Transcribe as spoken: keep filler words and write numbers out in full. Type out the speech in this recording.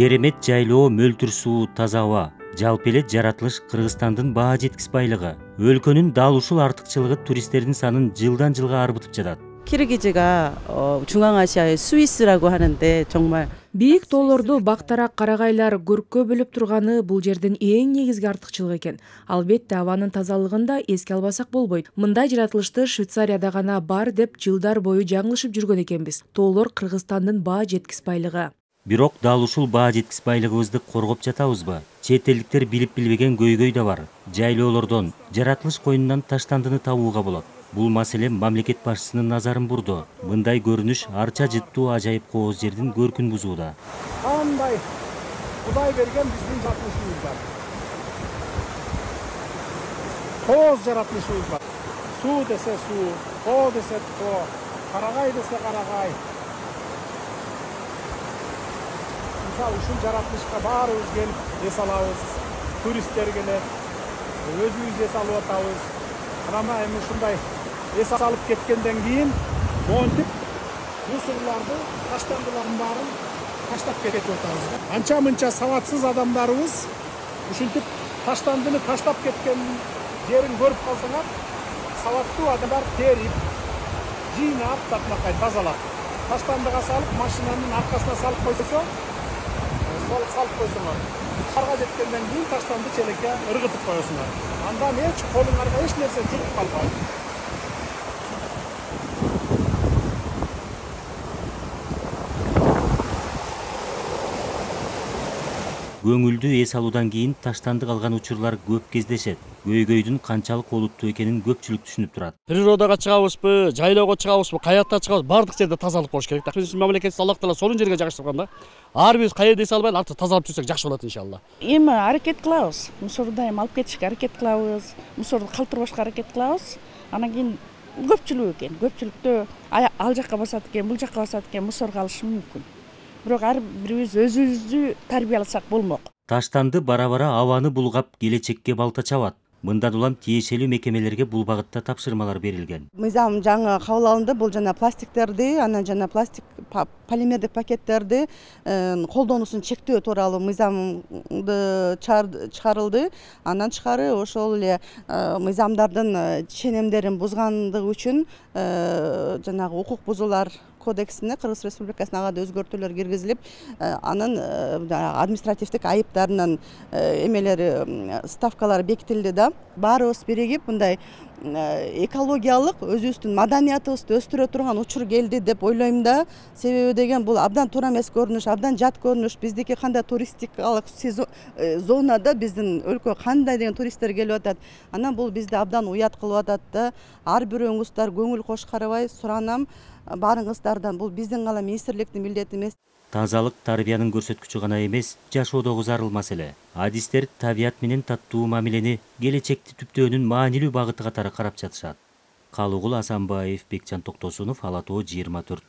Керемет жайлоо, мөлтүр суу, таза аба, жалпы эле жаратылыш Кыргызстандын баа жеткис байлыгы. Өлкөнүн дал ушул артыкчылыгы туристтердин санын жылдан жылга арбытып жатат. Киргизи가 중앙아시아의 스위스라고 하는데 정말 бийик тоолорду бактарак карагайлар көрккө бөлүп турганы бул жердин эң негизги артыкчылыгы экен. Албетте абанын тазалыгын да эске албасак болбойт. Мындай жаратылышты Швейцарияда гана бар деп жылдар бою жаңылышып жүргөн экенбиз. Тоолор Кыргызстандын баа жеткис байлыгы. Бирок дал ушул баа жеткис байлыгыбызды коргоп жатабызбы? Чет элдиктер билип билбеген көйгөй да бар. Жайлоолордон, жаратылыш коюнунан таштандыны табууга болот. Бул маселе мамлекет башчысынын назарын бурду. Мындай көрүнүш арча жыттуу ажайып кооз жердин көркүн бузууда. Кандай Кудай берген биздин жаратылышыбыз бар. Кооз жаратылышыбыз бар. Суу десе суу, тоо десе тоо, карагай десе карагай. Мисалы ушул жаратылышка баарыбыз келип эс алабыз. Туристтер келет, өзүбүз эс алып атабыз. Анан эми ушундай эс алып кеткенден кийин монтип мусорларды, таштандылардын баарын таштап кетип атабыз. Анча-мынча сабатсыз адамдарыбыз ушинтип таштандыны таштап кеткен жерин көрүп калсаңар, сабаттуу адамдар терип, жыйнап, татнакай тазалап, таштандыга салып, машинанын аркасына салып койсо, салып койсоңор, карга жеткенден кийин таштанды челекке ыргытып коесуңар. Андан эч колуңарга эч нерсе жугуп калбайт. Көңүлдүү эс алуудан кийин таштанды калган учурлар көп кездешет. Көйгөйдүн канчалык олуттуу экенин көпчүлүк түшүнүп турат. Природага чыгабызбы, жайлоого чыгабызбы, каякта чыгабыз, бардык жерде тазалык болуш керек да. Биздин мамлекет Аллах Таала сонун жерге жайгаштырган да. Ар бирибиз кайерде эс албай, артык тазалап жүрсөк жакшы болот иншалла. Эми аракет кылабыз. Мусорду эми алып кетишке аракет кылабыз. Мусорду калтырбашка аракет кылабыз. Анан кийин көпчүлүк экен. Көпчүлүктө ал жакка басат экен, бул жакка басат экен, мусорго алышы мүмкүн. Бирок ар бирибиз өзүбүздү тарбияласак болмок. Таштанды бара-бара абаны булгап, келечекке балта чабат. Мындан улам тиешелүү мекемелерге бул багытта тапшырмалар берилген. Мыйзам жаңы кабыл алынды. Бул жана пластиктерди, анан жана пластик полимердик пакеттерди колдонуусун чектөө тууралуу мыйзамды чыгарылды. Андан тышкары ошол эле мыйзамдардын ченемдерин бузгандыгы үчүн жанагы укук бузуулар кодексине Кыргыз Республикасына ага да өзгөртүүлөр киргизилип, анын административдик айыптарынын эмелери, ставкалары бекитилди да. Баарыбыз биригип мындай экологиялык өзүбүздүн маданиятыбызды өстүрө турган учур келди деп ойлойм да. Себеби деген бул абдан туура эмес көрүнүш, абдан жат көрүнүш. Биздики кандай туристикалык зонада биздин өлкөгө кандай деген туристтер келип атат. Анан бул бизди абдан уят кылып атат да. Ар бирөөңүздөр көңүл кош карабай суранам баарыңыздардан, бул биздин гана министрликтин милдети эмес. Тазалык тарбиянын көрсөткүчү гана эмес, жашоодогу зарыл маселе. Адистер табият менен таттуу мамилени келечекти түптөөнүн маанилүү багыты катары карап жатышат. Калыгул Асанбаев, Бекжан Токтосунов, Ала Тоо жыйырма төрт.